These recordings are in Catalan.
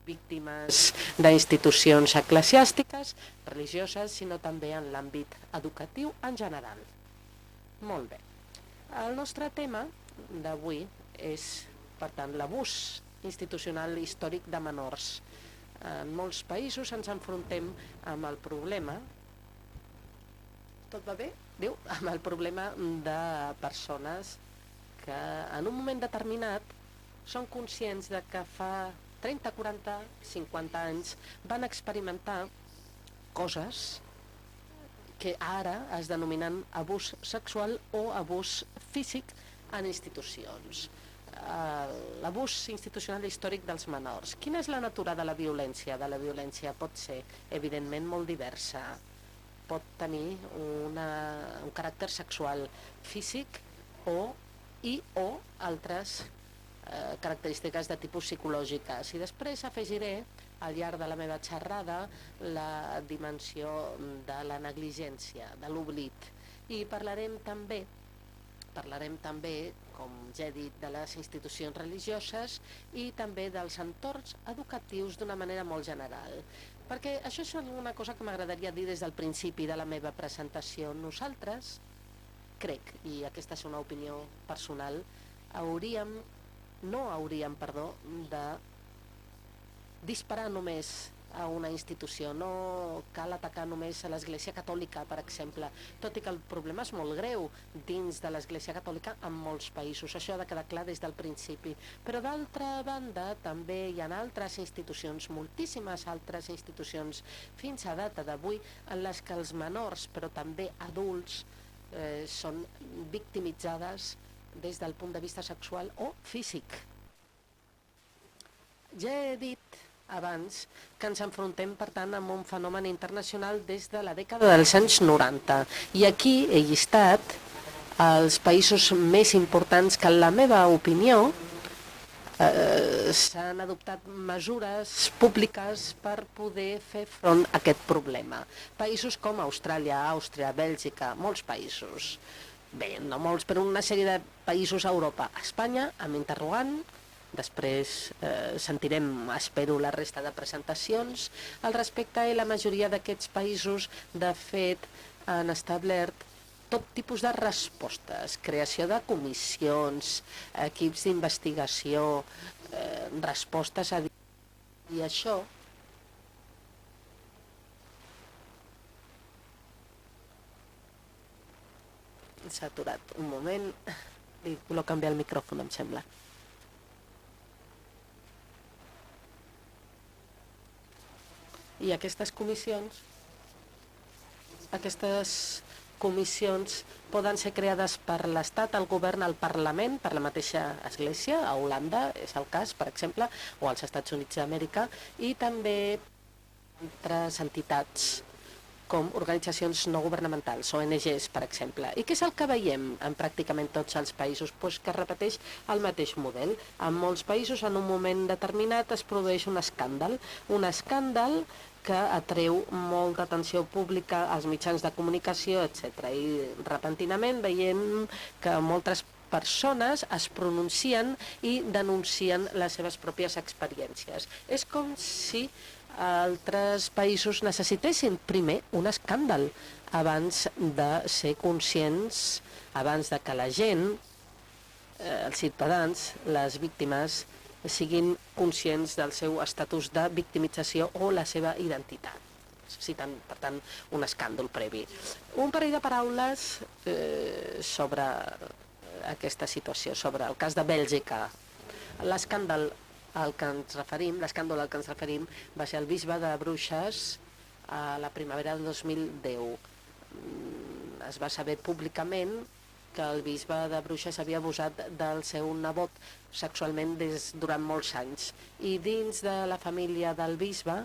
víctimes d'institucions eclesiàstiques, religioses, sinó també en l'àmbit educatiu en general. Molt bé. El nostre tema d'avui és, per tant, l'abús institucional històric de menors. En molts països ens enfrontem amb el problema, tot va bé? Diu, amb el problema de persones que en un moment determinat són conscients de que fa 30, 40, 50 anys van experimentar coses que ara es denominen abús sexual o abús físic en institucions. L'abús institucional històric dels menors. Quina és la natura de la violència? De la violència pot ser, evidentment, molt diversa. Pot tenir un caràcter sexual, físic o altres característiques de tipus psicològiques. I després afegiré al llarg de la meva xerrada la dimensió de la negligència, de l'oblit. I parlarem també, com ja he dit, de les institucions religioses i també dels entorns educatius d'una manera molt general. Perquè això és una cosa que m'agradaria dir des del principi de la meva presentació. Nosaltres, crec, i aquesta és una opinió personal, no hauríem de disparar només a una institució, no cal atacar només a l'Església Catòlica, per exemple, tot i que el problema és molt greu dins de l'Església Catòlica en molts països, això ha de quedar clar des del principi. Però d'altra banda també hi ha altres institucions, moltíssimes altres institucions, fins a data d'avui, en les que els menors, però també adults, són victimitzades des del punt de vista sexual o físic. Ja he dit abans que ens enfrontem, per tant, amb un fenomen internacional des de la dècada dels anys 90. I aquí he llistat els països més importants que, en la meva opinió, s'han adoptat mesures públiques per poder fer front a aquest problema. Països com Austràlia, Àustria, Bèlgica, molts països. Bé, no molts, però una sèrie de països a Europa. Espanya, amb interrogant. Després sentirem, espero, la resta de presentacions al respecte, i la majoria d'aquests països, de fet, han establert tot tipus de respostes, creació de comissions, equips d'investigació, respostes a... I això s'ha aturat un moment, li voler canviar el micròfon, em sembla. I aquestes comissions poden ser creades per l'Estat, el govern, el Parlament, per la mateixa Església, a Holanda és el cas, per exemple, o als Estats Units d'Amèrica, i també altres entitats com organitzacions no governamentals, ONGs, per exemple. I què és el que veiem en pràcticament tots els països? Pues que es repeteix el mateix model. En molts països, en un moment determinat, es produeix un escàndal que atreu molta atenció pública als mitjans de comunicació, etc. I repentinament veiem que moltes persones es pronuncien i denuncien les seves pròpies experiències. És com si altres països necessitessin primer un escàndal abans de ser conscients, abans de que la gent, els ciutadans, les víctimes, siguin conscients del seu estatus de victimització o la seva identitat. Necessiten, per tant, un escàndol previ. Un parell de paraules sobre aquesta situació, sobre el cas de Bèlgica. L'escàndol al que ens referim va ser el bisbe de Bruixes a la primavera del 2010. Es va saber públicament que el bisbe de Bruixes havia abusat del seu nebot sexualment durant molts anys. I dins de la família del bisbe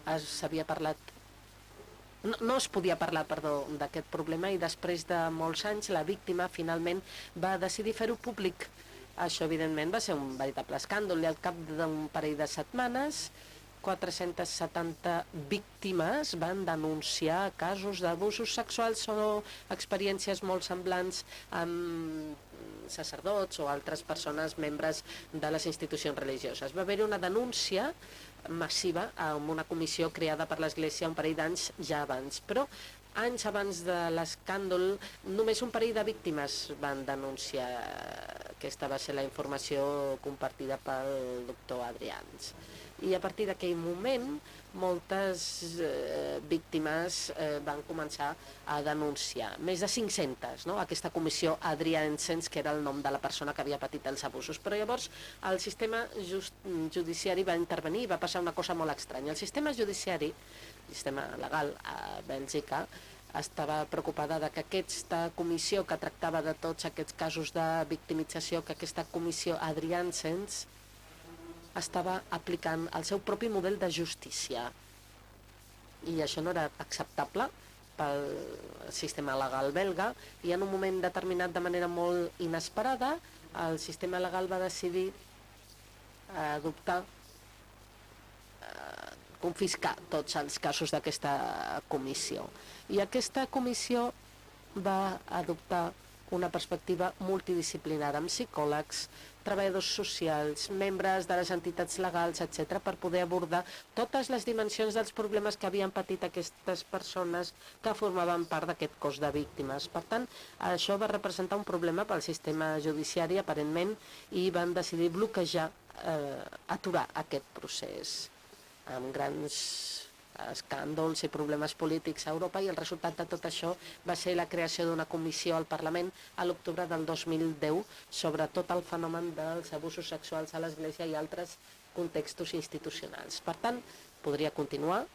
s'havia parlat, no es podia parlar, d'aquest problema, i després de molts anys la víctima finalment va decidir fer-ho públic. Això, evidentment, va ser un veritable escàndol, i al cap d'un parell de setmanes 470 víctimes van denunciar casos d'abusos sexuals o experiències molt semblants amb sacerdots o altres persones membres de les institucions religioses. Va haver-hi una denúncia massiva amb una comissió creada per l'Església un parell d'anys ja abans, però anys abans de l'escàndol només un parell de víctimes van denunciar. Aquesta va ser la informació compartida pel doctor Adrians. I a partir d'aquell moment moltes víctimes van començar a denunciar. Més de 500, no? Aquesta comissió Adriansens, que era el nom de la persona que havia patit els abusos. Però llavors el sistema judiciari va intervenir i va passar una cosa molt estranya. El sistema judiciari, el sistema legal a Bèlgica, estava preocupada de que aquesta comissió que tractava de tots aquests casos de victimització, que aquesta comissió Adriansens estava aplicant el seu propi model de justícia. I això no era acceptable pel sistema legal belga, i en un moment determinat, de manera molt inesperada, el sistema legal va decidir adoptar, confiscar tots els casos d'aquesta comissió. I aquesta comissió va adoptar una perspectiva multidisciplinària amb psicòlegs, treballadors socials, membres de les entitats legals, etc., per poder abordar totes les dimensions dels problemes que havien patit aquestes persones que formaven part d'aquest cos de víctimes. Per tant, això va representar un problema pel sistema judiciari, aparentment, i van decidir bloquejar, aturar aquest procés amb grans escàndols i problemes polítics a Europa, i el resultat de tot això va ser la creació d'una comissió al Parlament a l'octubre del 2010 sobre tot el fenomen dels abusos sexuals a l'Església i altres contextos institucionals. Per tant, podria continuar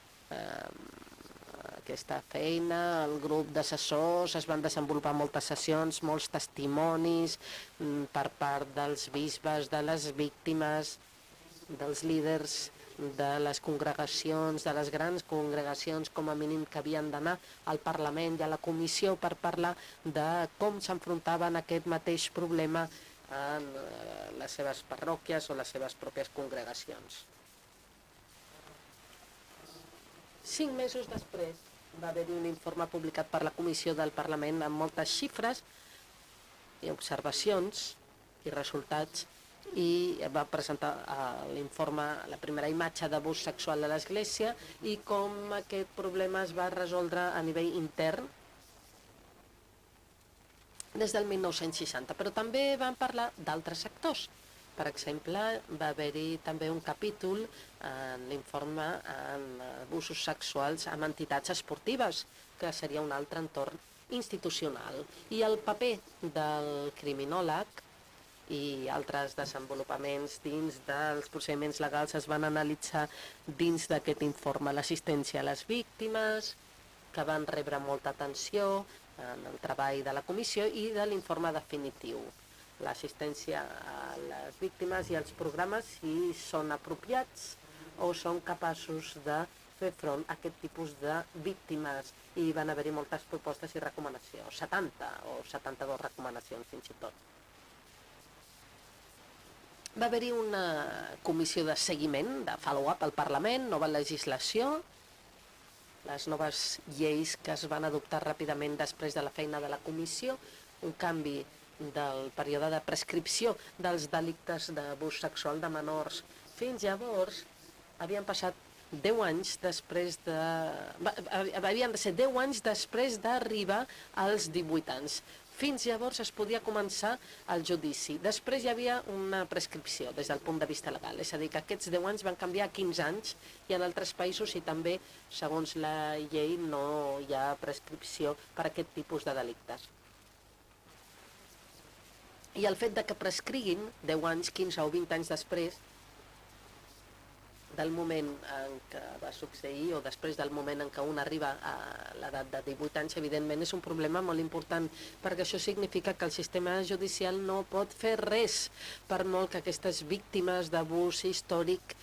aquesta feina, el grup d'assessors, es van desenvolupar moltes sessions, molts testimonis per part dels bisbes, de les víctimes, dels líders de les congregacions, de les grans congregacions com a mínim que havien d'anar al Parlament i a la Comissió per parlar de com s'enfrontaven a aquest mateix problema en les seves parròquies o les seves pròpies congregacions. 5 mesos després va haver-hi un informe publicat per la Comissió del Parlament amb moltes xifres i observacions i resultats, i va presentar l'informe, la primera imatge d'abús sexual a l'Església i com aquest problema es va resoldre a nivell intern des del 1960. Però també van parlar d'altres sectors. Per exemple, va haver-hi també un capítol en l'informe en abusos sexuals amb entitats esportives, que seria un altre entorn institucional. I el paper del criminòleg i altres desenvolupaments dins dels procediments legals es van analitzar dins d'aquest informe. L'assistència a les víctimes, que van rebre molta atenció en el treball de la comissió, i de l'informe definitiu. L'assistència a les víctimes i els programes, si són apropiats o són capaços de fer front a aquest tipus de víctimes. I van haver-hi moltes propostes i recomanacions, 70 o 72 recomanacions fins i tot. Va haver-hi una comissió de seguiment, de follow-up al Parlament, nova legislació, les noves lleis que es van adoptar ràpidament després de la feina de la comissió, un canvi del període de prescripció dels delictes d'abús sexual de menors. Fins llavors havien passat 10 anys després de... havien de ser 10 anys després d'arribar als 18 anys. Fins llavors es podia començar el judici. Després hi havia una prescripció des del punt de vista legal. És a dir, que aquests 10 anys van canviar a 15 anys i en altres països i també, segons la llei, no hi ha prescripció per a aquest tipus de delictes. I el fet de que prescriguin 10 anys, 15 o 20 anys després del moment en què va succeir o després del moment en què un arriba a l'edat de 18 anys, evidentment és un problema molt important, perquè això significa que el sistema judicial no pot fer res, per molt que aquestes víctimes d'abús històric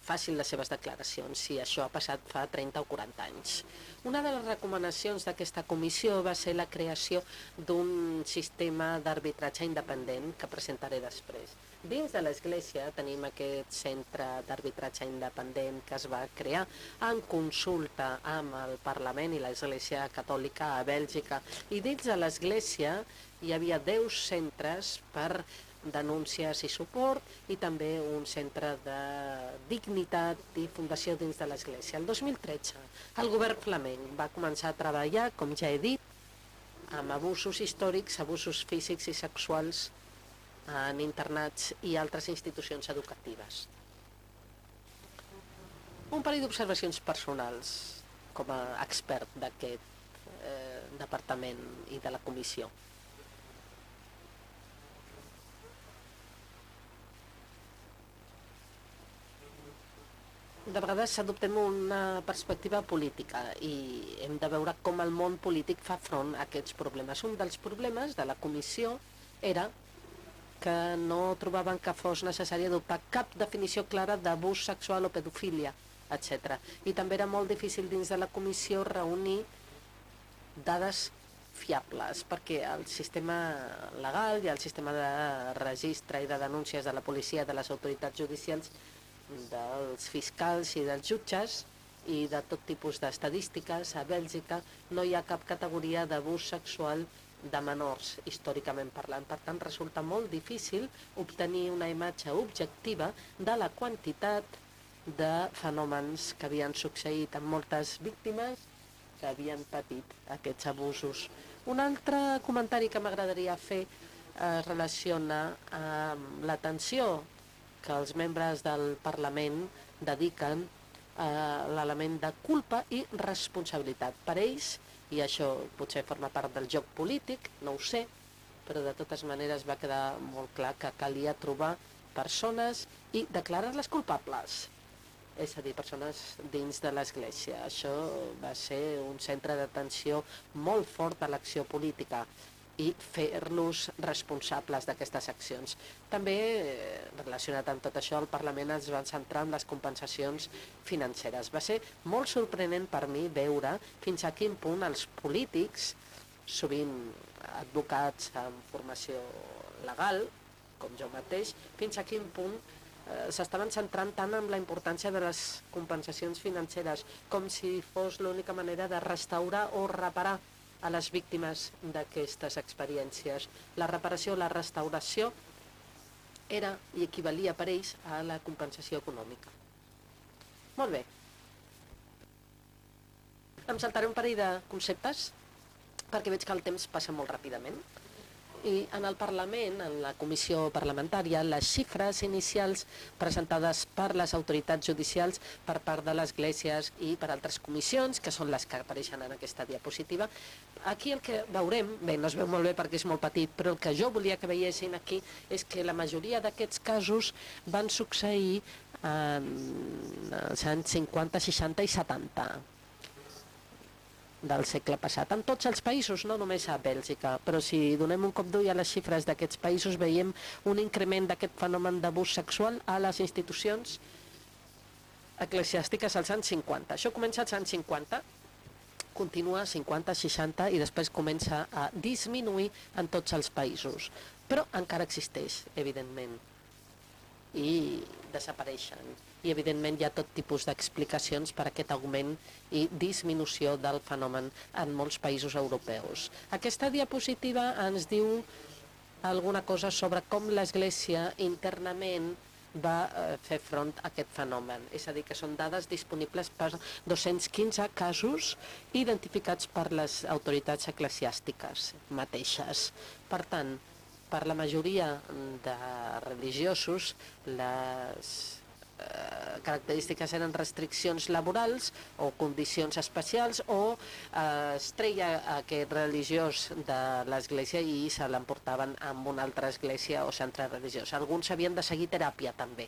facin les seves declaracions, si això ha passat fa 30 o 40 anys. Una de les recomanacions d'aquesta comissió va ser la creació d'un sistema d'arbitratge independent que presentaré després. Dins de l'Església tenim aquest centre d'arbitratge independent que es va crear en consulta amb el Parlament i l'Església Catòlica a Bèlgica. I dins de l'Església hi havia 10 centres per denúncies i suport i també un centre de dignitat i fundació dins de l'Església. El 2013 el govern flamenc va començar a treballar, com ja he dit, amb abusos històrics, abusos físics i sexuals en internats i altres institucions educatives. Un parell d'observacions personals com a expert d'aquest departament i de la comissió. De vegades adoptem una perspectiva política i hem de veure com el món polític fa front a aquests problemes. Un dels problemes de la comissió era que no trobaven que fos necessari adoptar cap definició clara d'abús sexual o pedofília, etc. I també era molt difícil dins de la comissió reunir dades fiables, perquè el sistema legal i el sistema de registre i de denúncies de la policia, de les autoritats judicials, dels fiscals i dels jutges i de tot tipus d'estadístiques, a Bèlgica no hi ha cap categoria d'abús sexual de menors, històricament parlant. Per tant, resulta molt difícil obtenir una imatge objectiva de la quantitat de fenòmens que havien succeït amb moltes víctimes que havien patit aquests abusos. Un altre comentari que m'agradaria fer es relaciona amb l'atenció que els membres del Parlament dediquen a l'element de culpa i responsabilitat. Per ells, i això potser forma part del joc polític, no ho sé, però de totes maneres va quedar molt clar que calia trobar persones i declarar-les culpables, és a dir, persones dins de l'Església. Això va ser un centre d'atenció molt fort a l'acció política i fer-los responsables d'aquestes accions. També, relacionat amb tot això, el Parlament es va centrar en les compensacions financeres. Va ser molt sorprenent per mi veure fins a quin punt els polítics, sovint advocats amb formació legal, com jo mateix, fins a quin punt s'estaven centrant tant en la importància de les compensacions financeres, com si fos l'única manera de restaurar o reparar a les víctimes d'aquestes experiències. La reparació, la restauració era i equivalia per ells a la compensació econòmica. Molt bé. Em saltaré un parell de conceptes perquè veig que el temps passa molt ràpidament. I en el Parlament, en la comissió parlamentària, les xifres inicials presentades per les autoritats judicials per part de les esglésies i per altres comissions, que són les que apareixen en aquesta diapositiva, aquí el que veurem, bé, no es veu molt bé perquè és molt petit, però el que jo volia que veiessin aquí és que la majoria d'aquests casos van succeir en els anys 50, 60 i 70 del segle passat, en tots els països, no només a Bèlgica, però si donem un cop d'ull a les xifres d'aquests països veiem un increment d'aquest fenomen d'abús sexual a les institucions eclesiàstiques als anys 50. Això comença als anys 50, continua 50, 60 i després comença a disminuir en tots els països, però encara existeix, evidentment, i desapareixen. I, evidentment, hi ha tot tipus d'explicacions per a aquest augment i disminució del fenomen en molts països europeus. Aquesta diapositiva ens diu alguna cosa sobre com l'Església internament va fer front a aquest fenomen. És a dir, que són dades disponibles per 215 casos identificats per les autoritats eclesiàstiques mateixes. Per tant, per la majoria de religiosos, les característiques eren restriccions laborals o condicions especials o es treia aquest religiós de l'església i se l'emportaven amb una altra església o centre religiós. Alguns havien de seguir teràpia també.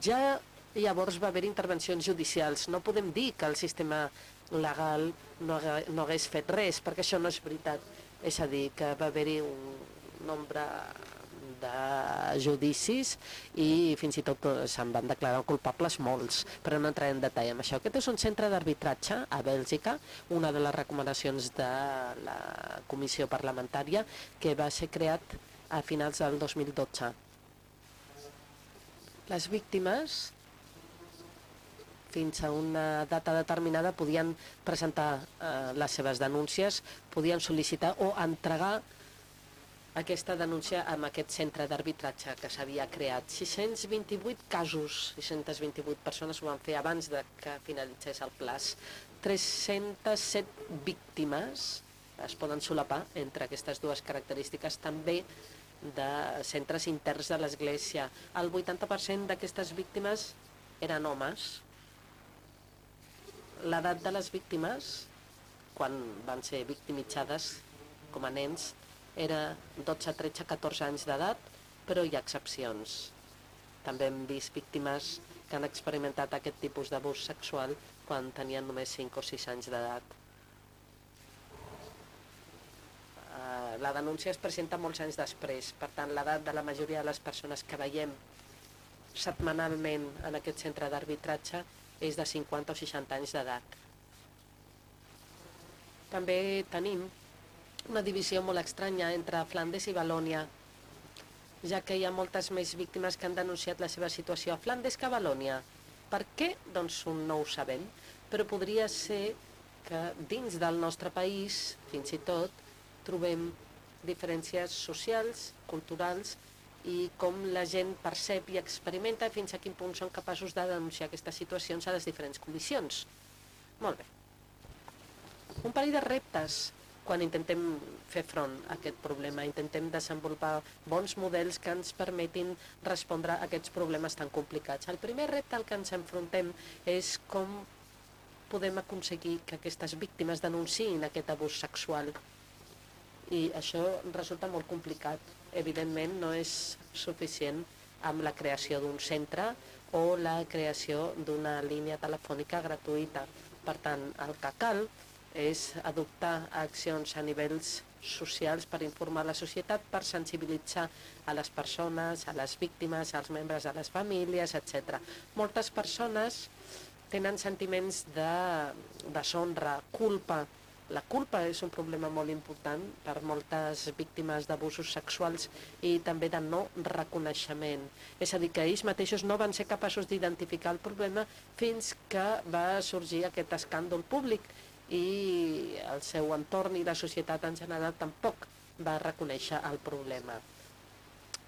Ja llavors va haver intervencions judicials. No podem dir que el sistema legal no hagués fet res, perquè això no és veritat. És a dir, que va haver-hi un nombre de judicis i fins i tot se'n van declarar culpables molts, però no entraré en detall amb això. Aquest és un centre d'arbitratge a Bèlgica, una de les recomanacions de la comissió parlamentària que va ser creat a finals del 2012. Les víctimes fins a una data determinada podien presentar les seves denúncies, podien sol·licitar o entregar aquesta denúncia amb aquest centre d'arbitratge que s'havia creat. 628 casos, 628 persones ho van fer abans de que finalitzés el plaç. 307 víctimes es poden solapar entre aquestes dues característiques, també de centres interns de l'Església. El 80% d'aquestes víctimes eren homes. L'edat de les víctimes, quan van ser victimitzades com a nens, era 12, 13, 14 anys d'edat, però hi ha excepcions. També hem vist víctimes que han experimentat aquest tipus d'abús sexual quan tenien només 5 o 6 anys d'edat. La denúncia es presenta molts anys després, per tant, l'edat de la majoria de les persones que veiem setmanalment en aquest centre d'arbitratge és de 50 o 60 anys d'edat. També tenim una divisió molt estranya entre Flandes i Valònia, ja que hi ha moltes més víctimes que han denunciat la seva situació a Flandes que a Valònia. Per què? Doncs no ho sabem, però podria ser que dins del nostre país, fins i tot, trobem diferències socials, culturals, i com la gent percep i experimenta fins a quin punt són capaços de denunciar aquestes situacions a les diferents comissions. Molt bé. Un parell de reptes quan intentem fer front a aquest problema, intentem desenvolupar bons models que ens permetin respondre a aquests problemes tan complicats. El primer repte al que ens enfrontem és com podem aconseguir que aquestes víctimes denunciïn aquest abús sexual. I això resulta molt complicat. Evidentment no és suficient amb la creació d'un centre o la creació d'una línia telefònica gratuïta. Per tant, el que cal és adoptar accions a nivells socials per informar la societat, per sensibilitzar a les persones, a les víctimes, als membres de les famílies, etc. Moltes persones tenen sentiments de deshonra, culpa. La culpa és un problema molt important per moltes víctimes d'abusos sexuals i també de no reconeixement. És a dir, que ells mateixos no van ser capaços d'identificar el problema fins que va sorgir aquest escàndol públic i el seu entorn i la societat en general tampoc va reconèixer el problema.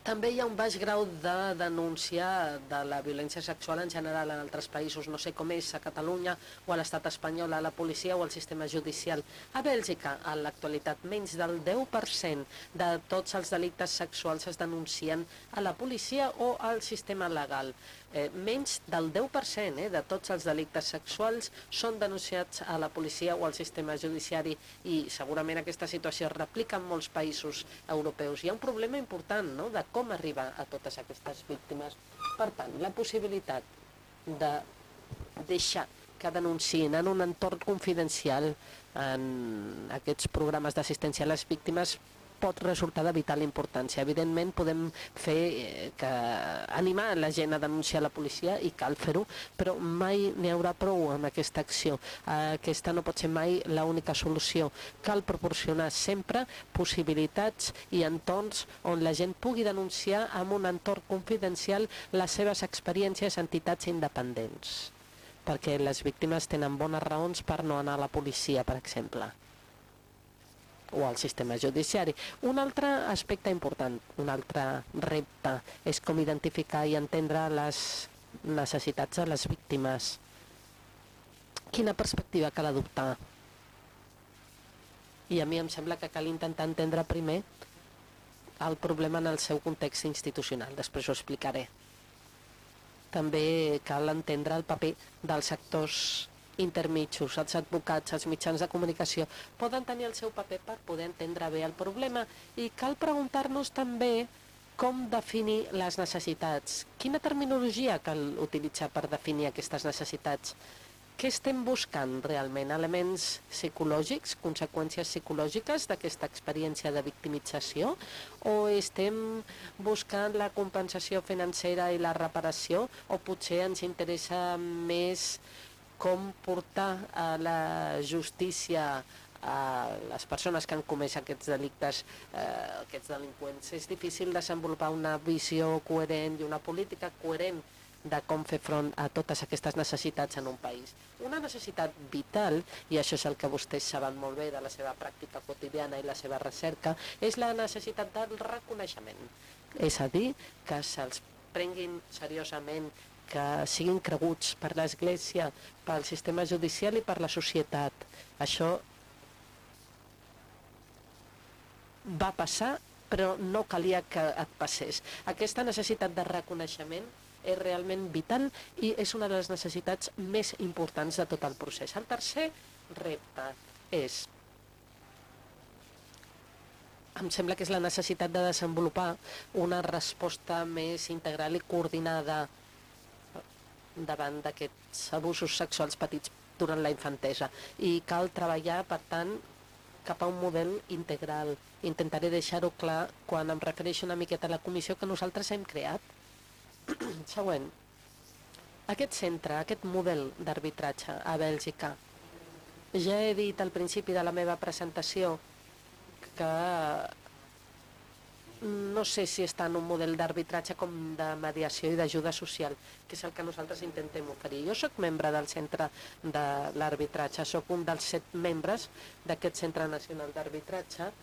També hi ha un baix grau de denúncia de la violència sexual en general en altres països, no sé com és a Catalunya o a l'estat espanyol, a la policia o al sistema judicial. A Bèlgica, en l'actualitat, menys del 10% de tots els delictes sexuals es denuncien a la policia o al sistema legal. Menys del 10% de tots els delictes sexuals són denunciats a la policia o al sistema judiciari i segurament aquesta situació es replica en molts països europeus. Hi ha un problema important, no?, de com arribar a totes aquestes víctimes. Per tant, la possibilitat de deixar que denunciïn en un entorn confidencial en aquests programes d'assistència a les víctimes pot resultar de vital importància. Evidentment podem fer animar la gent a denunciar la policia i cal fer-ho, però mai n'hi haurà prou amb aquesta acció. Aquesta no pot ser mai l'única solució. Cal proporcionar sempre possibilitats i entorns on la gent pugui denunciar en un entorn confidencial les seves experiències a entitats independents, perquè les víctimes tenen bones raons per no anar a la policia, per exemple, o al sistema judiciari. Un altre aspecte important, un altre repte, és com identificar i entendre les necessitats de les víctimes. Quina perspectiva cal adoptar? I a mi em sembla que cal intentar entendre primer el problema en el seu context institucional, després ho explicaré. També cal entendre el paper dels sectors intermitjos, els advocats, els mitjans de comunicació, poden tenir el seu paper per poder entendre bé el problema i cal preguntar-nos també com definir les necessitats. Quina terminologia cal utilitzar per definir aquestes necessitats? Què estem buscant realment? Elements psicològics, conseqüències psicològiques d'aquesta experiència de victimització? O estem buscant la compensació financera i la reparació? O potser ens interessa més com portar a la justícia a les persones que han comès aquests delictes, aquests delinqüents? És difícil desenvolupar una visió coherent i una política coherent de com fer front a totes aquestes necessitats en un país. Una necessitat vital, i això és el que vostès saben molt bé de la seva pràctica quotidiana i la seva recerca, és la necessitat del reconeixement. És a dir, que se'ls prenguin seriosament, que siguin creguts per l'Església, pel sistema judicial i per la societat. Això va passar, però no calia que et passés. Aquesta necessitat de reconeixement és realment vital i és una de les necessitats més importants de tot el procés. El tercer repte és, em sembla que és la necessitat de desenvolupar una resposta més integral i coordinada davant d'aquests abusos sexuals patits durant la infantesa. I cal treballar, per tant, cap a un model integral. Intentaré deixar-ho clar quan em refereixo una miqueta a la comissió que nosaltres hem creat. Següent. Aquest centre, aquest model d'arbitratge a Bèlgica, ja he dit al principi de la meva presentació que no sé si està en un model d'arbitratge com de mediació i d'ajuda social, que és el que nosaltres intentem oferir. Jo sóc membre del centre de l'arbitratge, sóc un dels 7 membres d'aquest centre nacional d'arbitratge,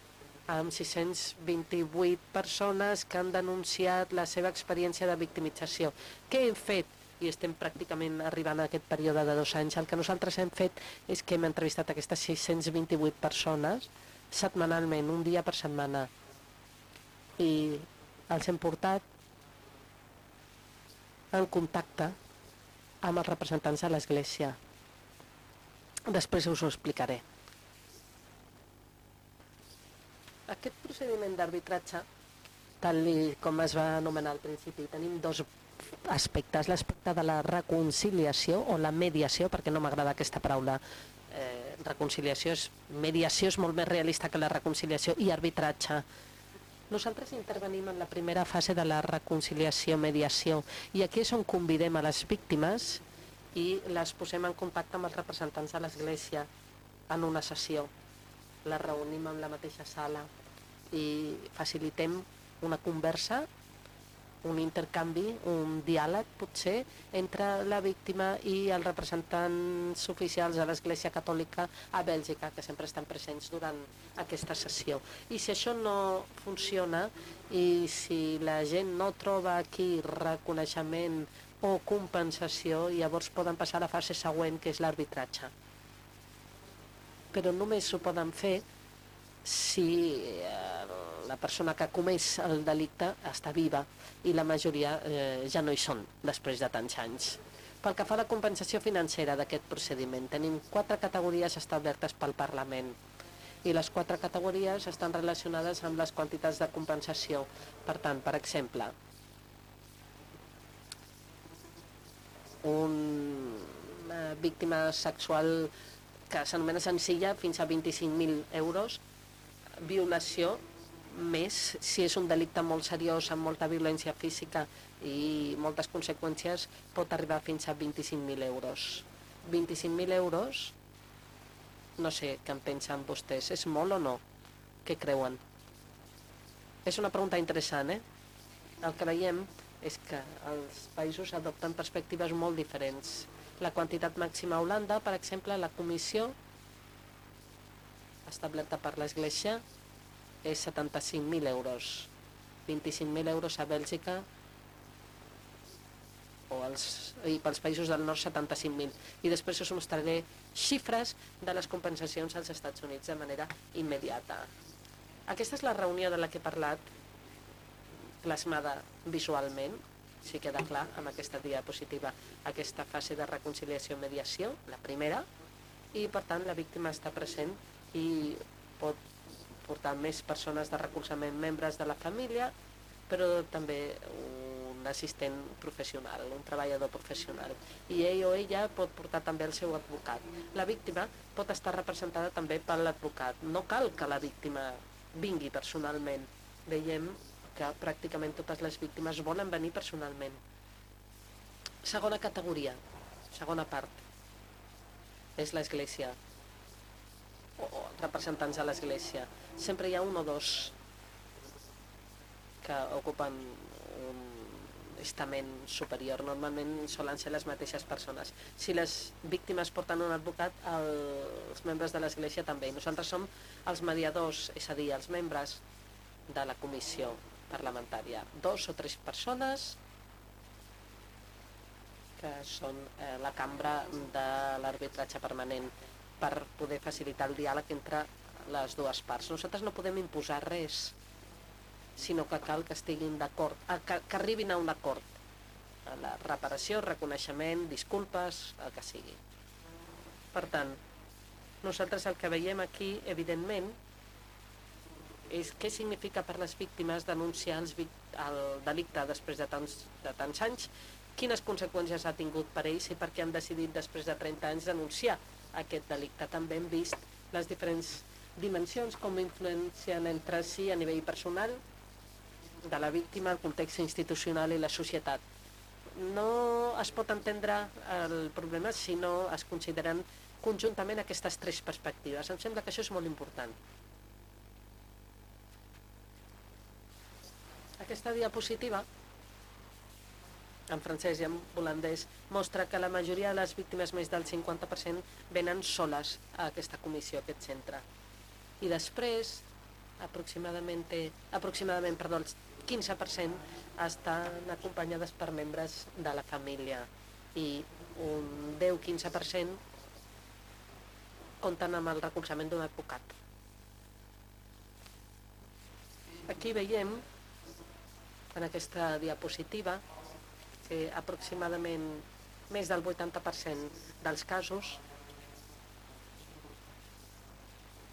amb 628 persones que han denunciat la seva experiència de victimització. Què hem fet? I estem pràcticament arribant a aquest període de 2 anys. El que nosaltres hem fet és que hem entrevistat aquestes 628 persones setmanalment, un dia per setmana. I els hem portat en contacte amb els representants de l'Església. Després us ho explicaré. Aquest procediment d'arbitratge, tal com es va anomenar al principi, tenim 2 aspectes. L'aspecte de la reconciliació o la mediació, perquè no m'agrada aquesta paraula. Mediació és molt més realista que la reconciliació, i arbitratge. Nosaltres intervenim en la primera fase de la reconciliació-mediació, i aquí és on convidem a les víctimes i les posem en contacte amb els representants de l'Església en una sessió. La reunim en la mateixa sala i facilitem una conversa, un intercanvi, un diàleg potser entre la víctima i els representants oficials de l'Església Catòlica a Bèlgica, que sempre estan presents durant aquesta sessió. I si això no funciona i si la gent no troba aquí reconeixement o compensació, llavors poden passar a la fase següent, que és l'arbitratge. Però només ho poden fer si la persona que ha comès el delicte està viva, i la majoria ja no hi són després de tants anys. Pel que fa a la compensació financera d'aquest procediment, tenim 4 categories establertes pel Parlament, i les 4 categories estan relacionades amb les quantitats de compensació. Per tant, per exemple, una víctima sexual que s'anomena senzilla fins a 25.000 euros, violació més, si és un delicte molt seriós, amb molta violència física i moltes conseqüències, pot arribar fins a 25.000 euros. 25.000 euros, no sé què en pensen vostès, és molt o no? Què creuen? És una pregunta interessant, El que veiem és que els països adopten perspectives molt diferents. La quantitat màxima a Holanda, per exemple, la comissió establerta per l'Església és 75.000 euros. 25.000 euros a Bèlgica i pels països del nord 75.000. I després us mostraré xifres de les compensacions als Estats Units de manera immediata. Aquesta és la reunió de la que he parlat, plasmada visualment, si queda clar amb aquesta diapositiva, aquesta fase de reconciliació i mediació, la primera, i per tant la víctima està present i pot portar més persones de recolzament, membres de la família, però també un un assistent professional, un treballador professional, i ell o ella pot portar també el seu advocat. La víctima pot estar representada també per l'advocat. No cal que la víctima vingui personalment. Veiem que pràcticament totes les víctimes volen venir personalment. Segona categoria, segona part, és l'Església, o representants de l'Església. Sempre hi ha un o dos que ocupen un estament superior. Normalment solen ser les mateixes persones. Si les víctimes porten un advocat, els membres de l'Església també. Nosaltres som els mediadors, és a dir, els membres de la comissió parlamentària. 2 o 3 persones que són la cambra de l'arbitratge permanent per poder facilitar el diàleg entre les dues parts. Nosaltres no podem imposar res, sinó que cal que estiguin d'acord, que arribin a un acord. A la reparació, reconeixement, disculpes, el que sigui. Per tant, nosaltres el que veiem aquí, evidentment, és què significa per les víctimes denunciar el delicte després de tants anys, quines conseqüències ha tingut per ells i per què han decidit després de 30 anys denunciar aquest delicte. També hem vist les diferents dimensions, com influencien entre si a nivell personal de la víctima, el context institucional i la societat. No es pot entendre el problema si no es consideren conjuntament aquestes 3 perspectives. Em sembla que això és molt important. Aquesta diapositiva, en francès i en holandès, mostra que la majoria de les víctimes, més del 50%, venen soles a aquesta comissió, a aquest centre. I després, aproximadament el 15% estan acompanyades per membres de la família i un 10-15% compten amb el recolzament d'un advocat. Aquí veiem, en aquesta diapositiva, que aproximadament més del 80% dels casos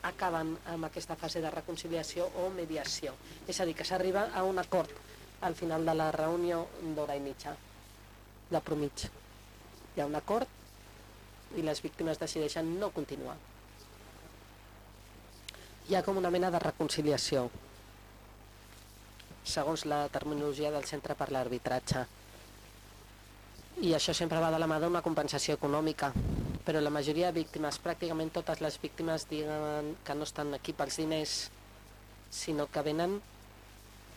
acaben amb aquesta fase de reconciliació o mediació. És a dir, que s'arriba a un acord al final de la reunió d'hora i mitja, de promig. Hi ha un acord i les víctimes decideixen no continuar. Hi ha com una mena de reconciliació, segons la terminologia del Centre per l'Arbitratge. I això sempre va de la mà d'una compensació econòmica, però la majoria de víctimes, pràcticament totes les víctimes, diuen que no estan aquí pels diners, sinó que venen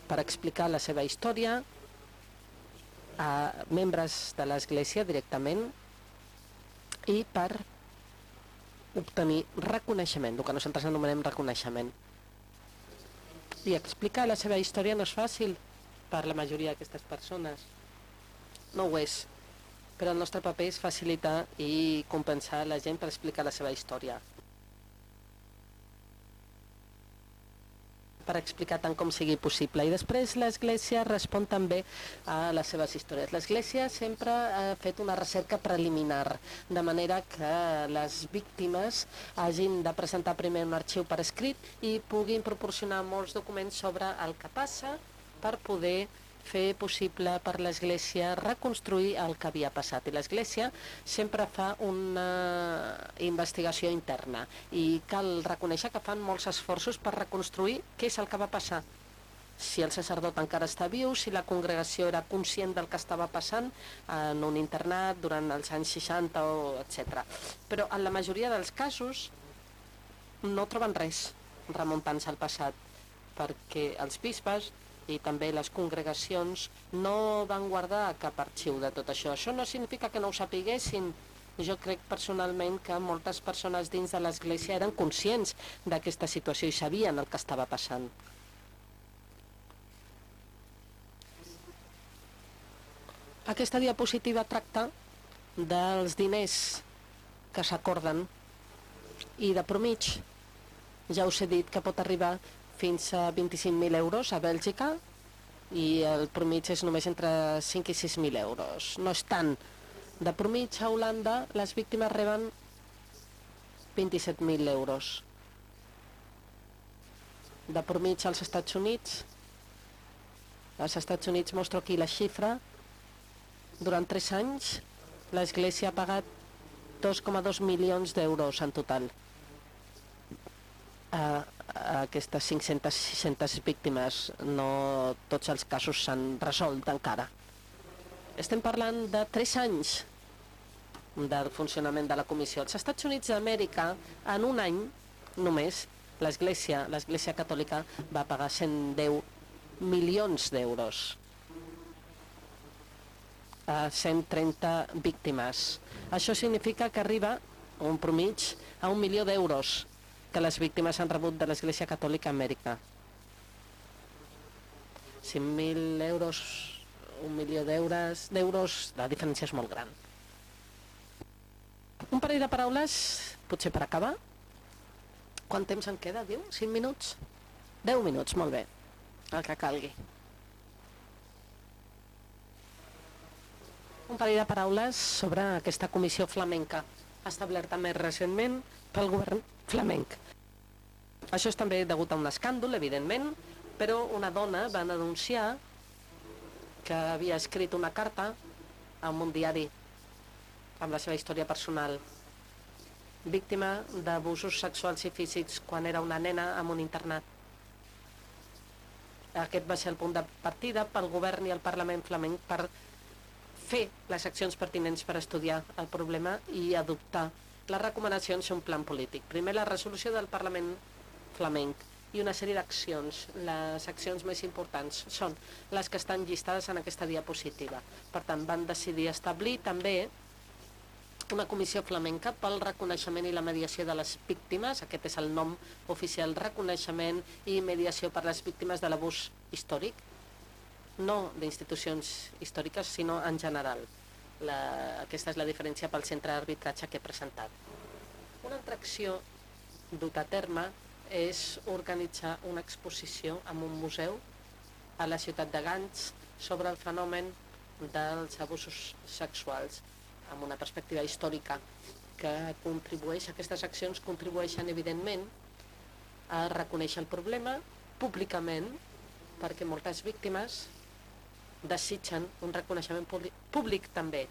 per explicar la seva història a membres de l'Església directament i per obtenir reconeixement, el que nosaltres anomenem reconeixement. I explicar la seva història no és fàcil per la majoria d'aquestes persones. No ho és. Però el nostre paper és facilitar i compensar la gent per explicar la seva història. Per explicar tant com sigui possible. I després l'Església respon també a les seves històries. L'Església sempre ha fet una recerca preliminar, de manera que les víctimes hagin de presentar primer un arxiu per escrit i puguin proporcionar molts documents sobre el que passa per poder fer possible per l'Església reconstruir el que havia passat. I l'Església sempre fa una investigació interna i cal reconèixer que fan molts esforços per reconstruir què és el que va passar. Si el sacerdot encara està viu, si la congregació era conscient del que estava passant en un internat durant els anys 60, etc. Però en la majoria dels casos no troben res remuntant-se al passat, perquè els bisbes i també les congregacions no van guardar cap arxiu de tot això. Això no significa que no ho sapiguessin. Jo crec personalment que moltes persones dins de l'Església eren conscients d'aquesta situació i sabien el que estava passant. Aquesta diapositiva tracta dels diners que s'acorden i de promig. Ja us he dit que pot arribar fins a 25.000 euros a Bèlgica i el promig és només entre 5 i 6.000 euros. No és tant. De promig a Holanda les víctimes reben 27.000 euros. De promig als Estats Units Als Estats Units mostro aquí la xifra. Durant 3 anys, l'Església ha pagat 2,2 milions d'euros en total a aquestes 500-600 víctimes. No tots els casos s'han resolt encara. Estem parlant de 3 anys del funcionament de la comissió. Els Estats Units d'Amèrica, en un any només, l'Església Catòlica va pagar 110 milions d'euros a 130 víctimes. Això significa que arriba un promig a 1 milió d'euros que les víctimes han rebut de l'Església Catòlica a Amèrica. 5.000 euros, 1 milió d'euros, la diferència és molt gran. Un parell de paraules, potser per acabar. Quant temps en queda, diu? 5 minuts? 10 minuts, molt bé, el que calgui. Un parell de paraules sobre aquesta comissió flamenca, establerta més recentment pel govern flamenc. Això és també degut a un escàndol, evidentment, però una dona va denunciar que havia escrit una carta a un diari amb la seva història personal, víctima d'abusos sexuals i físics quan era una nena en un internat. Aquest va ser el punt de partida pel govern i el Parlament flamenc per fer les accions pertinents per estudiar el problema i adoptar les recomanacions d'un plan polític. Primer, la resolució del Parlament flamenc i una sèrie d'accions. Les accions més importants són les que estan llistades en aquesta diapositiva. Per tant, van decidir establir també una comissió flamenca pel reconeixement i la mediació de les víctimes. Aquest és el nom oficial, reconeixement i mediació per les víctimes de l'abús històric, no d'institucions històriques, sinó en general. Aquesta és la diferència pel centre d'arbitratge que he presentat. Una altra acció duta a terme és organitzar una exposició en un museu a la ciutat de Gants sobre el fenomen dels abusos sexuals amb una perspectiva històrica que contribueix, aquestes accions contribueixen evidentment a reconèixer el problema públicament, perquè moltes víctimes desitgen un reconeixement públic també,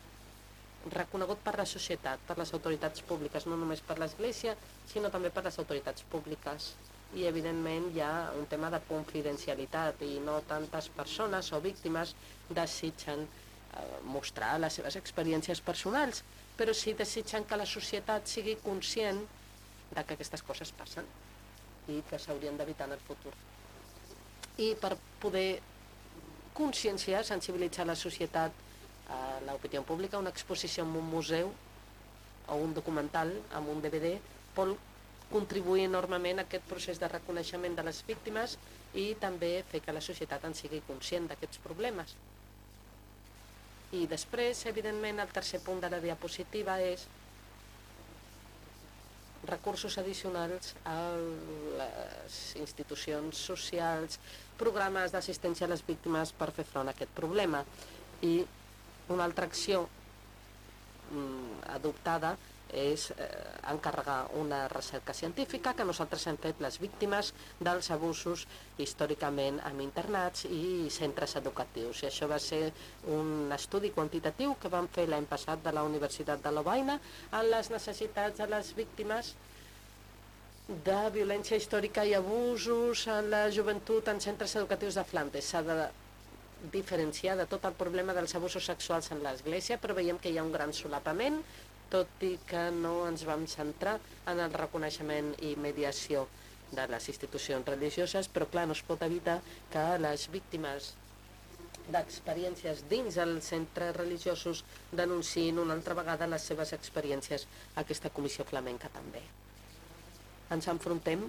reconegut per la societat, per les autoritats públiques, no només per l'Església, sinó també per les autoritats públiques. I evidentment hi ha un tema de confidencialitat i no tantes persones o víctimes desitgen mostrar les seves experiències personals, però sí desitgen que la societat sigui conscient de que aquestes coses passen i que s'haurien d'evitar en el futur. I per poder conscienciar, sensibilitzar la societat, a l'opinió pública, una exposició en un museu o un documental amb un DVD pot contribuir enormement a aquest procés de reconeixement de les víctimes i també fer que la societat en sigui conscient d'aquests problemes. I després, evidentment, el tercer punt de la diapositiva és recursos addicionals a les institucions socials, programes d'assistència a les víctimes per fer front a aquest problema. I una altra acció adoptada és encarregar una recerca científica que nosaltres hem fet les víctimes dels abusos històricament en internats i centres educatius. I això va ser un estudi quantitatiu que vam fer l'any passat de la Universitat de Lovaina en les necessitats de les víctimes de violència històrica i abusos en la joventut en centres educatius de Flandes. S'ha de diferenciar de tot el problema dels abusos sexuals en l'Església, però veiem que hi ha un gran solapament, tot i que no ens vam centrar en el reconeixement i mediació de les institucions religioses, però clar, no es pot evitar que les víctimes d'experiències dins els centres religiosos denunciïn una altra vegada les seves experiències a aquesta comissió flamenca també. Ens enfrontem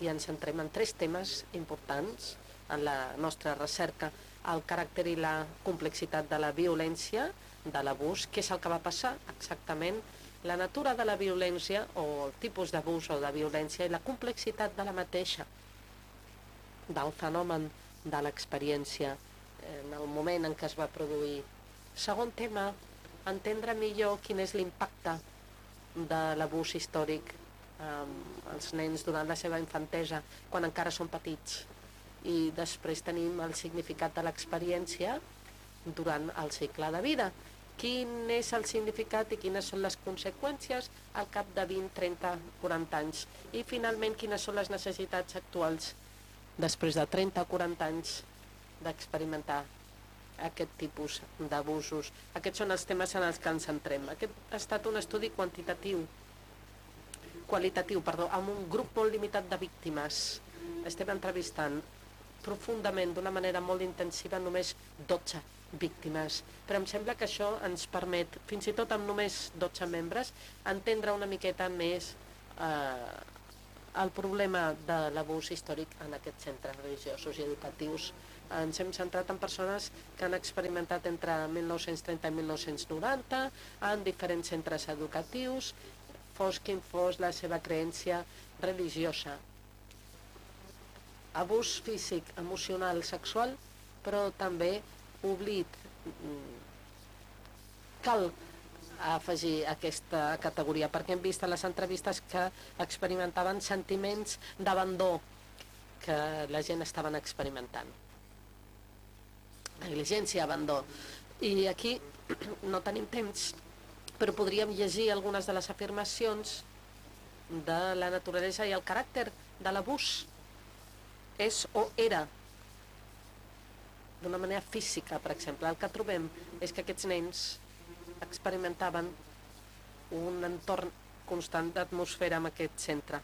i ens centrem en 3 temes importants en la nostra recerca: el caràcter i la complexitat de la violència, de l'abús, què és el que va passar exactament, la natura de la violència o el tipus d'abús o de violència i la complexitat de la mateixa, del fenomen de l'experiència en el moment en què es va produir. Segon tema, entendre millor quin és l'impacte de l'abús històric als nens durant la seva infantesa, quan encara són petits. I després tenim el significat de l'experiència durant el cicle de vida. Quin és el significat i quines són les conseqüències al cap de 20, 30, 40 anys. I finalment, quines són les necessitats actuals després de 30 o 40 anys d'experimentar aquest tipus d'abusos. Aquests són els temes en els que ens centrem. Aquest ha estat un estudi qualitatiu, amb un grup molt limitat de víctimes. Estem entrevistant profundament, d'una manera molt intensiva, només 12 víctimes. Però em sembla que això ens permet, fins i tot amb només 12 membres, entendre una miqueta més el problema de l'abús històric en aquests centres religiosos i educatius. Ens hem centrat en persones que han experimentat entre 1930 i 1990 en diferents centres educatius, fos quin fos la seva creença religiosa. Abús físic, emocional, sexual, però també oblit. Cal afegir aquesta categoria, perquè hem vist a les entrevistes que experimentaven sentiments d'abandó que la gent estaven experimentant. Negligència, abandó. I aquí no tenim temps, però podríem llegir algunes de les afirmacions de la naturalesa i el caràcter de l'abús. És o era d'una manera física, per exemple. El que trobem és que aquests nens experimentaven un entorn constant d'atmosfera en aquest centre.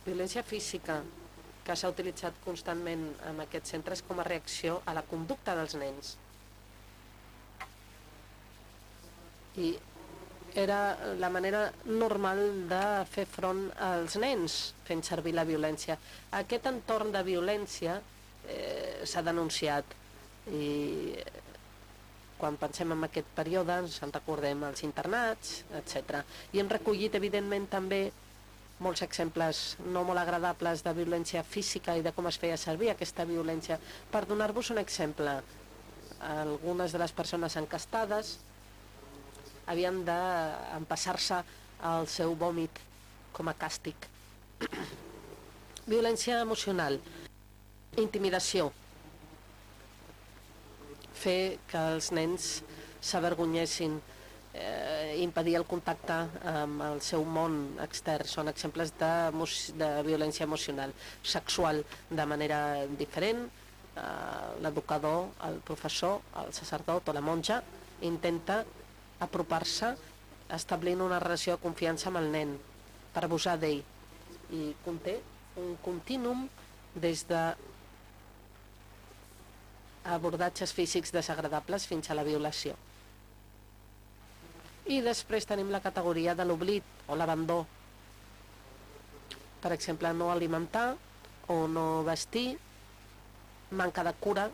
Violència física que s'ha utilitzat constantment en aquests centres com a reacció a la conducta dels nens. I era la manera normal de fer front als nens fent servir la violència. Aquest entorn de violència s'ha denunciat i quan pensem en aquest període ens en recordem els internats, etc. I hem recollit evidentment també molts exemples no molt agradables de violència física i de com es feia servir aquesta violència. Per donar-vos un exemple, algunes de les persones encastades havien d'empassar-se el seu vòmit com a càstig. Violència emocional, intimidació, fer que els nens s'avergonyessin, impedir el contacte amb el seu món extern. Són exemples de violència emocional. Sexual, de manera diferent, l'educador, el professor, el sacerdot o la monja intenta apropar-se establint una relació de confiança amb el nen per abusar d'ell, i conté un contínuum des de abordatges físics desagradables fins a la violació. I després tenim la categoria de l'oblit o l'abandó. Per exemple, no alimentar o no vestir, manca de cura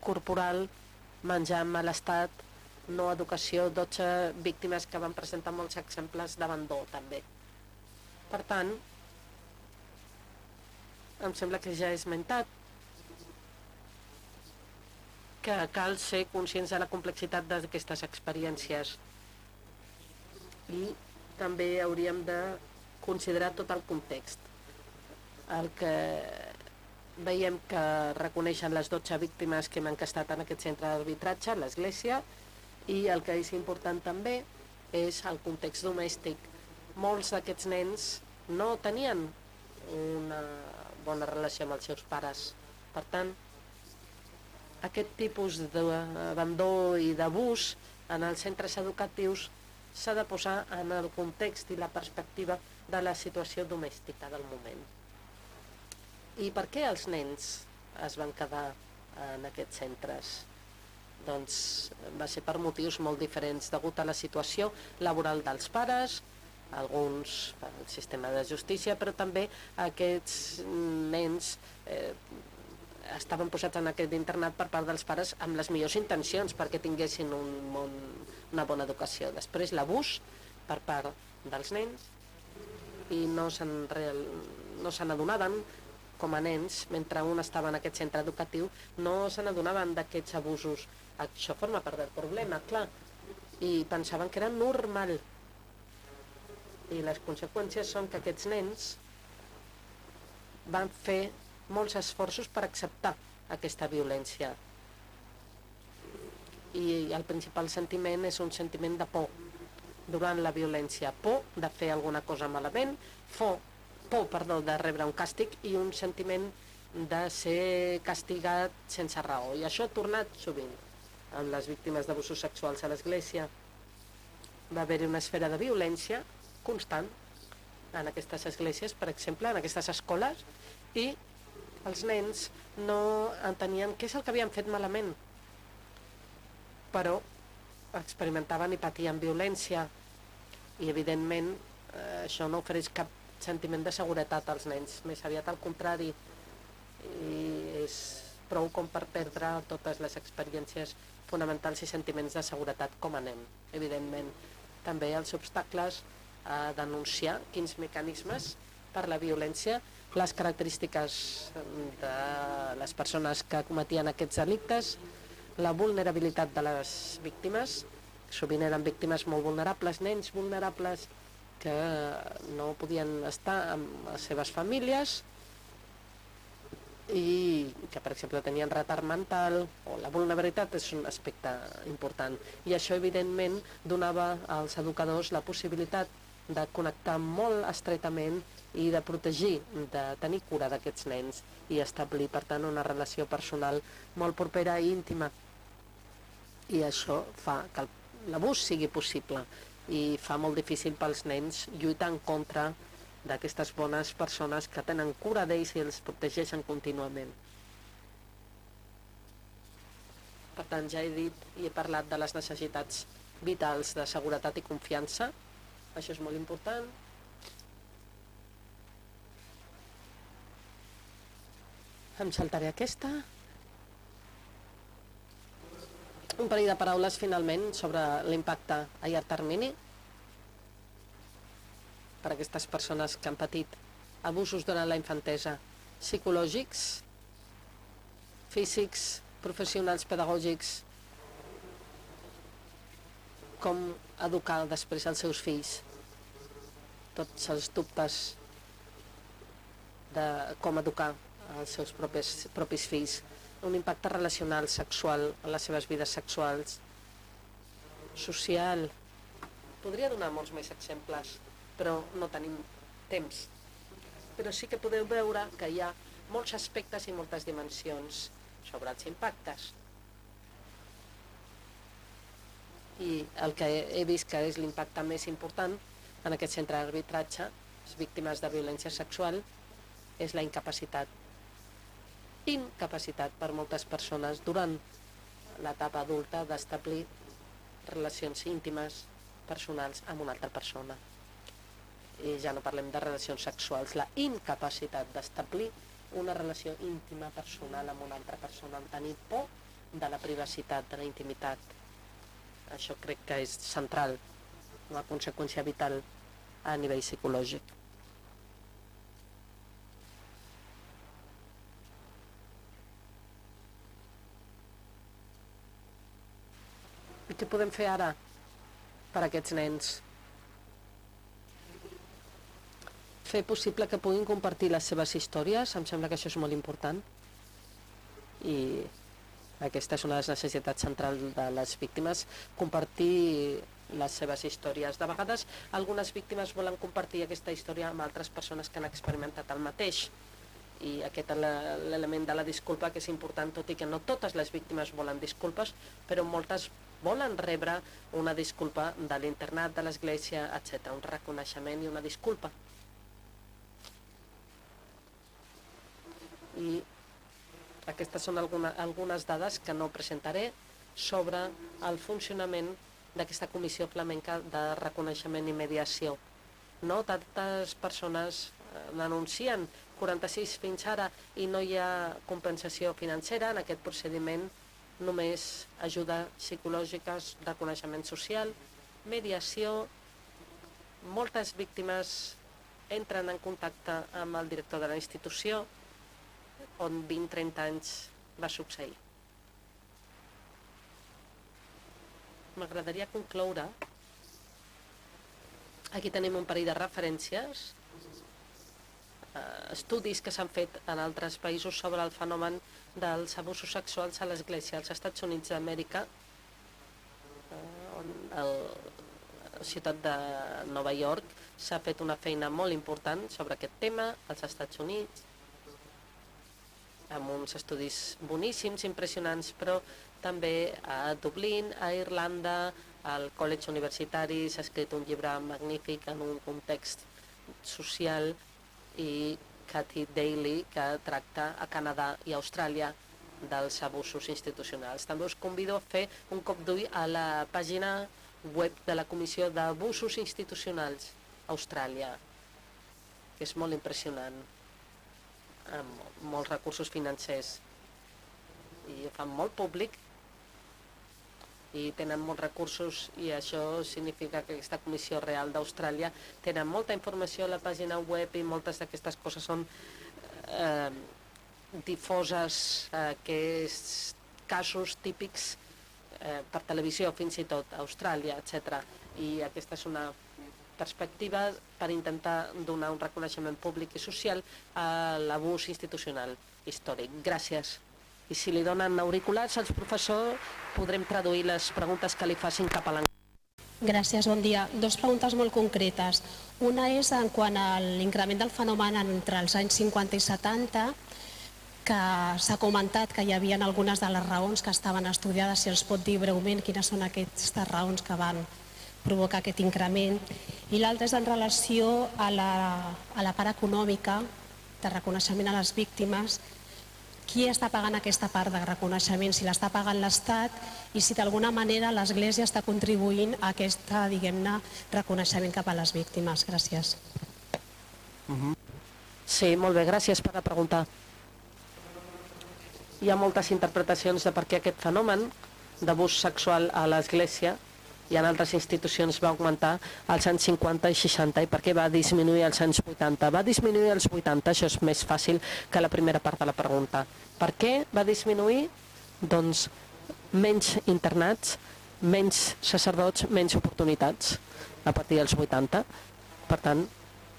corporal, menjar en mal estat, no educació, 12 víctimes que van presentar molts exemples d'abandó també. Per tant, em sembla que ja he esmentat que cal ser conscients de la complexitat d'aquestes experiències i també hauríem de considerar tot el context. El que veiem que reconeixen les 12 víctimes que hem encastat en aquest centre d'arbitratge, l'Església, i el que és important també és el context domèstic. Molts d'aquests nens no tenien una bona relació amb els seus pares. Per tant, aquest tipus d'abandó i d'abús en els centres educatius s'ha de posar en el context i la perspectiva de la situació domèstica del moment. I per què els nens es van quedar en aquests centres? Doncs va ser per motius molt diferents, degut a la situació laboral dels pares, alguns pel sistema de justícia, però també aquests nens estaven posats en aquest internat per part dels pares amb les millors intencions perquè tinguessin una bona educació. Després l'abús per part dels nens i no se n'adonaven com a nens, mentre un estava en aquest centre educatiu, no se n'adonaven d'aquests abusos. Això forma part del problema, clar, i pensaven que era normal. I les conseqüències són que aquests nens van fer molts esforços per acceptar aquesta violència. I el principal sentiment és un sentiment de por durant la violència, por de fer alguna cosa malament, por de rebre un càstig i un sentiment de ser castigat sense raó. I això ha tornat sovint amb les víctimes d'abusos sexuals a l'Església. Va haver-hi una esfera de violència constant en aquestes esglésies, per exemple, en aquestes escoles, i els nens no entenien què és el que havien fet malament, però experimentaven i patien violència i, evidentment, això no ofereix cap sentiment de seguretat als nens, més aviat al contrari, i és prou com per perdre totes les experiències fonamentals i sentiments de seguretat com a nen. Evidentment, també els obstacles a denunciar quins mecanismes per la violència, les característiques de les persones que cometien aquests delictes, la vulnerabilitat de les víctimes, sovint eren víctimes molt vulnerables, nens vulnerables que no podien estar amb les seves famílies i que, per exemple, tenien retard mental, o la vulnerabilitat és un aspecte important. I això, evidentment, donava als educadors la possibilitat de connectar molt estretament i de protegir, de tenir cura d'aquests nens i establir, per tant, una relació personal molt propera i íntima. I això fa que l'abús sigui possible i fa molt difícil pels nens lluitar en contra d'aquestes bones persones que tenen cura d'ells i els protegeixen contínuament. Per tant, ja he dit i he parlat de les necessitats vitals de seguretat i confiança. Això és molt important. Em saltaré aquesta. Un parell de paraules, finalment, sobre l'impacte a llarg termini per a aquestes persones que han patit abusos durant la infantesa, psicològics, físics, professionals, pedagògics, com educar després els seus fills, tots els dubtes de com educar els seus propis fills, un impacte relacional, sexual, en les seves vides sexuals, social. Podria donar molts més exemples, però no tenim temps. Però sí que podeu veure que hi ha molts aspectes i moltes dimensions sobre els impactes. I el que he vist que és l'impacte més important en aquest centre d'arbitratge, les víctimes de violència sexual, és la incapacitat. Incapacitat per moltes persones durant l'etapa adulta d'establir relacions íntimes, personals, amb una altra persona. I ja no parlem de relacions sexuals, la incapacitat d'establir una relació íntima personal amb una altra persona, en tenir por de la privacitat, de la intimitat. Això crec que és central, una conseqüència vital a nivell psicològic. I què podem fer ara per a aquests nens? Fer possible que puguin compartir les seves històries, em sembla que això és molt important. I aquesta és una de les necessitats centrals de les víctimes, compartir les seves històries. De vegades, algunes víctimes volen compartir aquesta història amb altres persones que han experimentat el mateix. I aquest és l'element de la disculpa que és important, tot i que no totes les víctimes volen disculpes, però moltes volen rebre una disculpa de l'internat, de l'església, etc. Un reconeixement i una disculpa. I aquestes són algunes dades que no presentaré sobre el funcionament d'aquesta comissió flamenca de reconeixement i mediació. No tantes persones denuncien, 46 fins ara, i no hi ha compensació financera en aquest procediment, només ajuda psicològica, reconeixement social, mediació. Moltes víctimes entren en contacte amb el director de la institució, on 20-30 anys va succeir. M'agradaria concloure. Aquí tenim un parell de referències estudis que s'han fet en altres països sobre el fenomen dels abusos sexuals a l'Església. Als Estats Units d'Amèrica, a la ciutat de Nova York, s'ha fet una feina molt important sobre aquest tema als Estats Units, amb uns estudis boníssims, impressionants, però també a Dublín, a Irlanda, al College Universitari s'ha escrit un llibre magnífic en un context social, i Kathy Daly, que tracta a Canadà i Austràlia dels abusos institucionals. També us convido a fer un cop d'ull a la pàgina web de la Comissió d'Abusos Institucionals a Austràlia, que és molt impressionant, amb molts recursos financers, i ho fan molt públic i tenen molts recursos, i això significa que aquesta Comissió Real d'Austràlia tenen molta informació a la pàgina web, i moltes d'aquestes coses són difoses, aquests casos típics per televisió, fins i tot a Austràlia, etc. I aquesta és una perspectiva per intentar donar un reconeixement públic i social a l'abús institucional històric. Gràcies. I si li donen auriculars als professors, podrem traduir les preguntes que li facin cap a l'anglès. Gràcies, bon dia. Dos preguntes molt concretes. Una és en quant a l'increment del fenomen entre els anys 50 i 70, que s'ha comentat que hi havia algunes de les raons que estaven estudiades. Si els pot dir breument quines són aquestes raons que van provocar aquest increment. I l'altra és en relació a la part econòmica de reconeixement a les víctimes. Qui està pagant aquesta part de reconeixement? Si l'està pagant l'Estat, i si d'alguna manera l'Església està contribuint a aquest, diguem-ne, reconeixement cap a les víctimes. Gràcies. Sí, molt bé, gràcies per la pregunta. Hi ha moltes interpretacions de per què aquest fenomen d'abús sexual a l'Església i en altres institucions va augmentar als anys 50 i 60, i per què va disminuir als anys 80. Va disminuir als 80, això és més fàcil que la primera part de la pregunta. Per què va disminuir? Doncs menys internats, menys sacerdots, menys oportunitats a partir dels 80. Per tant,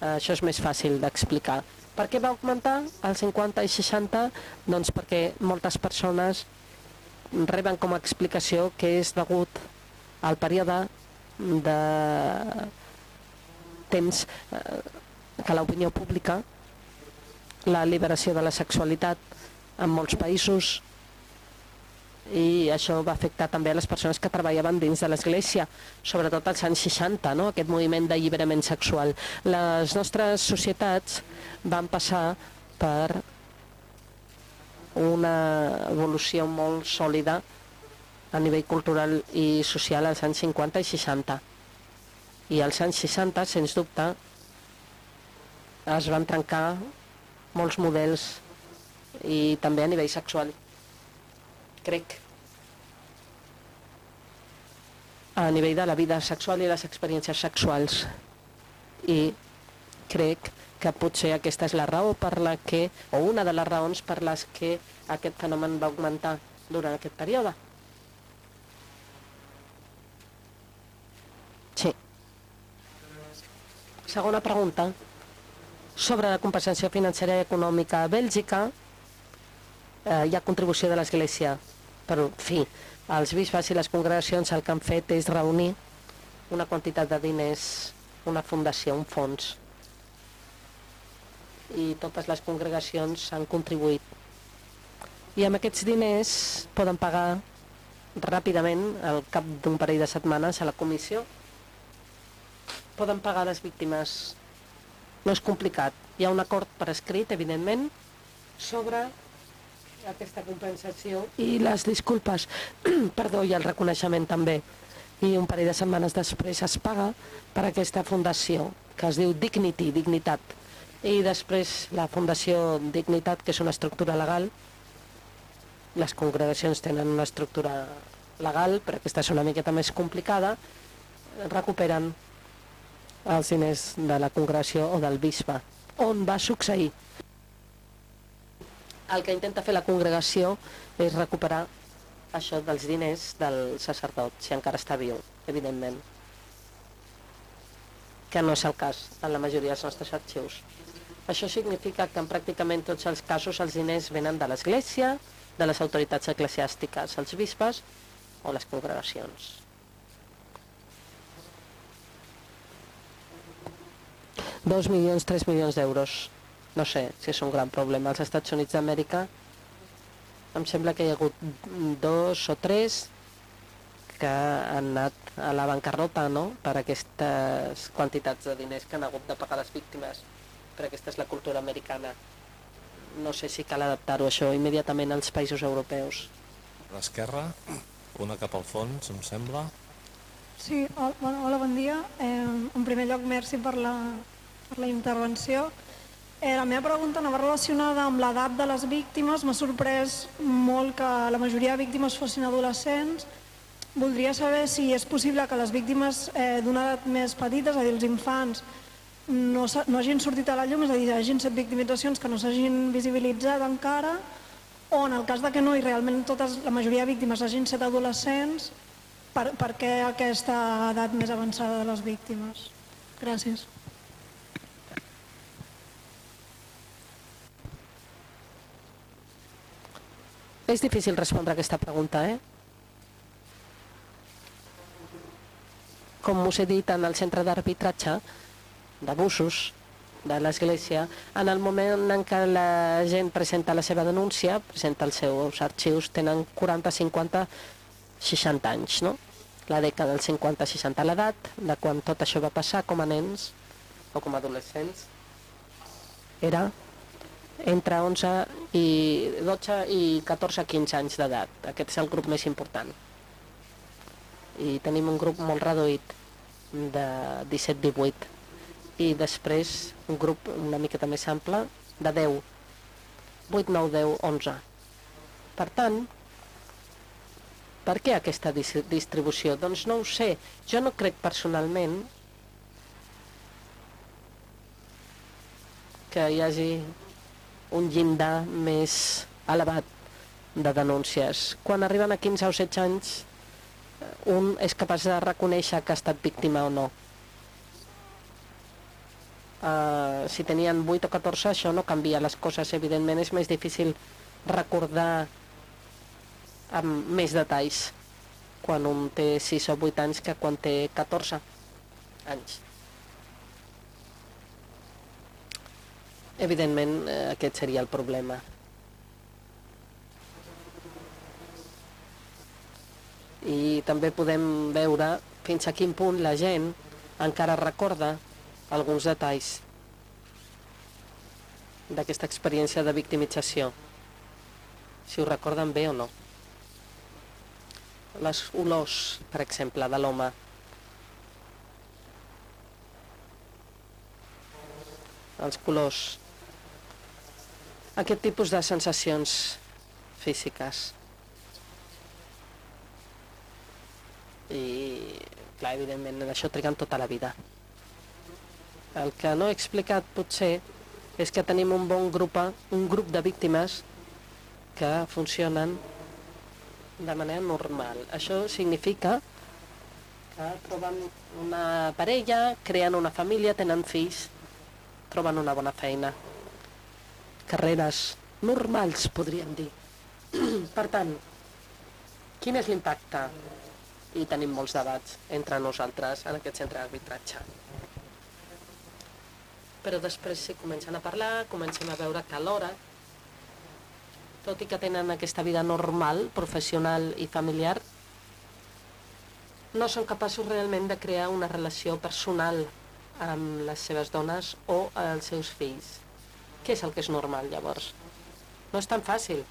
això és més fàcil d'explicar. Per què va augmentar als 50 i 60? Doncs perquè moltes persones reben com a explicació que és degut al període de temps que l'opinió pública, la liberació de la sexualitat en molts països, i això va afectar també a les persones que treballaven dins de l'Església, sobretot als anys 60, no? Aquest moviment d'alliberament sexual. Les nostres societats van passar per una evolució molt sòlida a nivell cultural i social als anys 50 i 60. I als anys 60, sens dubte, es van trencar molts models, i també a nivell sexual. Crec. A nivell de la vida sexual i les experiències sexuals. I crec que potser aquesta és la raó per la que, o una de les raons per les que aquest fenomen va augmentar durant aquest període. Sí. Segona pregunta. Sobre la compensació financera i econòmica a Bèlgica, hi ha contribució de l'Església, però, en fi, els bisbes i les congregacions el que han fet és reunir una quantitat de diners, una fundació, un fons, i totes les congregacions han contribuït. I amb aquests diners poden pagar ràpidament, al cap d'un parell de setmanes, a la comissió, poden pagar les víctimes. No és complicat. Hi ha un acord per escrit, evidentment, sobre aquesta compensació i les disculpes, perdó, i el reconeixement també. I un parell de setmanes després es paga per aquesta fundació, que es diu Dignity, dignitat. I després la fundació Dignitat, que és una estructura legal. Les congregacions tenen una estructura legal, però aquesta és una miqueta més complicada. Recuperen els diners de la congregació o del bisbe. On va succeir? El que intenta fer la congregació és recuperar això dels diners del sacerdot, si encara està viu, evidentment. Que no és el cas en la majoria dels nostres arxius. Això significa que en pràcticament tots els casos els diners venen de l'Església, de les autoritats eclesiàstiques, els bisbes o les congregacions. $2 milions, 3 milions d'euros. No sé si és un gran problema. Als Estats Units d'Amèrica em sembla que hi ha hagut 2 o 3 que han anat a la bancarrota, no?, per aquestes quantitats de diners que han hagut de pagar les víctimes. Però aquesta és la cultura americana. No sé si cal adaptar-ho això immediatament als països europeus. A l'esquerra, una cap al fons, em sembla. Sí, hola, bon dia. En primer lloc, merci per la intervenció. La meva pregunta anava relacionada amb l'edat de les víctimes. M'ha sorprès molt que la majoria de víctimes fossin adolescents. Voldria saber si és possible que les víctimes d'una edat més petita, és a dir, els infants, no hagin sortit a la llum, és a dir, hagin set victimitzacions que no s'hagin visibilitzat encara, o en el cas de que no i realment la majoria de víctimes hagin set adolescents, per què aquesta edat més avançada de les víctimes? Gràcies. És difícil respondre a aquesta pregunta, Com us he dit, en el centre d'arbitratge d'abusos de l'Església, en el moment en què la gent presenta la seva denúncia, presenta els seus arxius, tenen 40, 50, 60 anys, no? La dècada dels 50-60, l'edat de quan tot això va passar com a nens o com a adolescents era entre 11 i 12 i 14-15 anys d'edat. Aquest és el grup més important. I tenim un grup molt reduït de 17-18 i després un grup una miqueta més ample de 10, 8, 9, 10, 11. Per tant, per què aquesta distribució? Doncs no ho sé. Jo no crec personalment que hi hagi un llindar més elevat de denúncies. Quan arriben a 15 o 16 anys, un és capaç de reconèixer que ha estat víctima o no. Si tenien 8 o 14, això no canvia les coses. Evidentment és més difícil recordar amb més detalls quan un té 6 o 8 anys que quan té 14 anys. Evidentment, aquest seria el problema. I també podem veure fins a quin punt la gent encara recorda alguns detalls d'aquesta experiència de victimització, si ho recorden bé o no. Les olors, per exemple, de l'home. Els colors. Aquest tipus de sensacions físiques. I, clar, evidentment, això triguen tota la vida. El que no he explicat, potser, és que tenim un grup de víctimes que funcionen de manera normal. Això significa que troben una parella, creen una família, tenen fills, troben una bona feina. Carreres normals, podríem dir. Per tant, quin és l'impacte? I tenim molts debats entre nosaltres en aquest centre d'arbitratge. Però després si comencen a parlar, comencem a veure que alhora, tot i que tenen aquesta vida normal, professional i familiar, no són capaços realment de crear una relació personal amb les seves dones o els seus fills. Què és el que és normal, llavors? No és tan fàcil.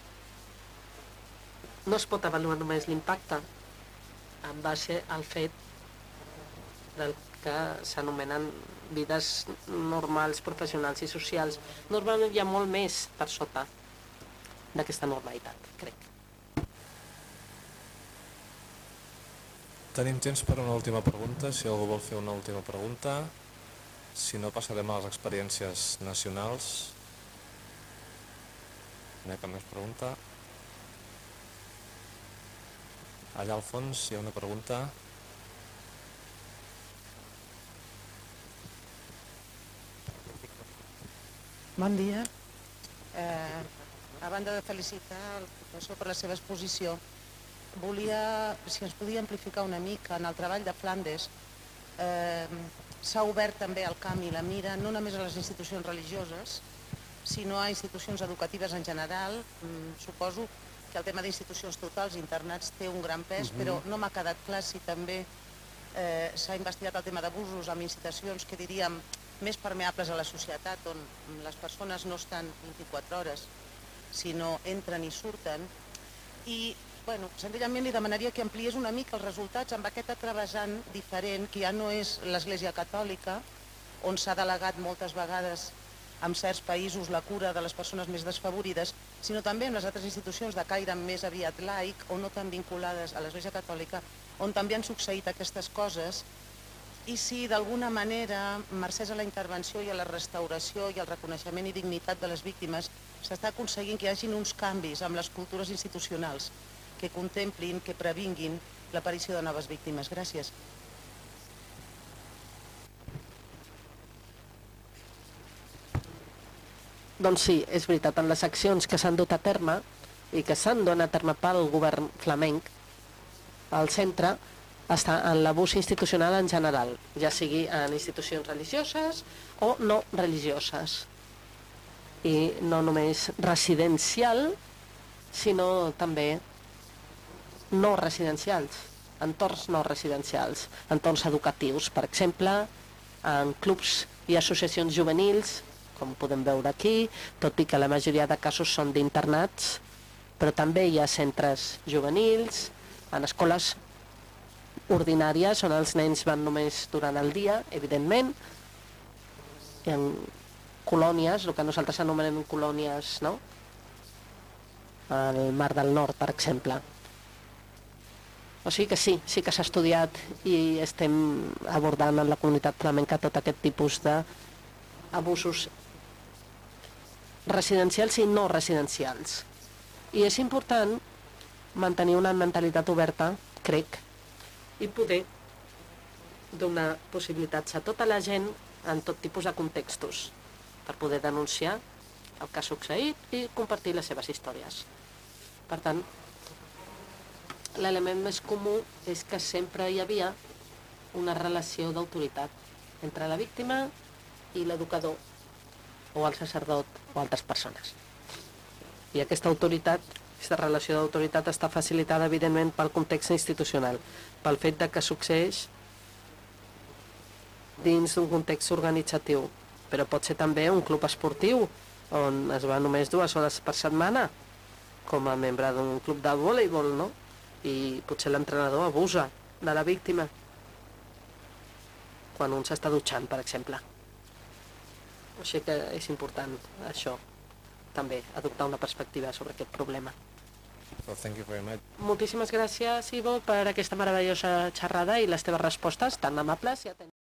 No es pot avaluar només l'impacte en base al fet del que s'anomenen vides normals, professionals i socials. Normalment hi ha molt més per sota d'aquesta normalitat, crec. Tenim temps per una última pregunta, si algú vol fer una última pregunta. Si no, passarem a les experiències nacionals. No hi ha cap més pregunta. Allà al fons hi ha una pregunta. Bon dia. A banda de felicitar el professor per la seva exposició, volia, si ens podia amplificar una mica, en el treball de Flandes s'ha obert també el camp i la mira no només a les institucions religioses, sinó a institucions educatives en general. Suposo que el tema d'institucions totals, internats, té un gran pes, però no m'ha quedat clar si també s'ha investigat el tema d'abusos amb institucions que diríem més permeables a la societat, on les persones no estan 24 hores, sinó entren i surten. I senzillament li demanaria que ampliés una mica els resultats amb aquest travessant diferent, que ja no és l'Església Catòlica, on s'ha delegat moltes vegades en certs països la cura de les persones més desfavorides, sinó també en les altres institucions de caire més aviat laic o no tan vinculades a l'Església Catòlica, on també han succeït aquestes coses, i si d'alguna manera, mercès a la intervenció i a la restauració i al reconeixement i dignitat de les víctimes, s'està aconseguint que hi hagin uns canvis amb les cultures institucionals que contemplin, que previnguin l'aparició de noves víctimes. Gràcies. Doncs sí, és veritat, en les accions que s'han dut a terme i que s'han donat a terme pel govern flamenc, el centre està en l'abús institucional en general, ja sigui en institucions religioses o no religioses. I no només residencial, sinó també no residencials, entorns no residencials, entorns educatius, per exemple, en clubs i associacions juvenils, com podem veure aquí, tot i que la majoria de casos són d'internats, però també hi ha centres juvenils, en escoles ordinàries, on els nens van només durant el dia, evidentment, i en colònies, el que nosaltres anomenem colònies, no? Al Mar del Nord, per exemple. O sigui que sí que s'ha estudiat i estem abordant en la comunitat flamenca tot aquest tipus d'abusos residencials i no residencials. I és important mantenir una mentalitat oberta, crec, i poder donar possibilitats a tota la gent en tot tipus de contextos per poder denunciar el que ha succeït i compartir les seves històries. Per tant, l'element més comú és que sempre hi havia una relació d'autoritat entre la víctima i l'educador o el sacerdot o altres persones. I aquesta autoritat, aquesta relació d'autoritat està facilitada, evidentment, pel context institucional, pel fet que succeeix dins d'un context organitzatiu, però pot ser també un club esportiu on es va només 2 hores per setmana com a membre d'un club de voleibol, no? I potser l'entrenador abusa de la víctima quan un s'està dutxant, per exemple. O sigui que és important això, també, adoptar una perspectiva sobre aquest problema. Well, thank you very much. Moltíssimes gràcies, Ivo, per aquesta meravellosa xerrada i les teves respostes tan amables i atentes.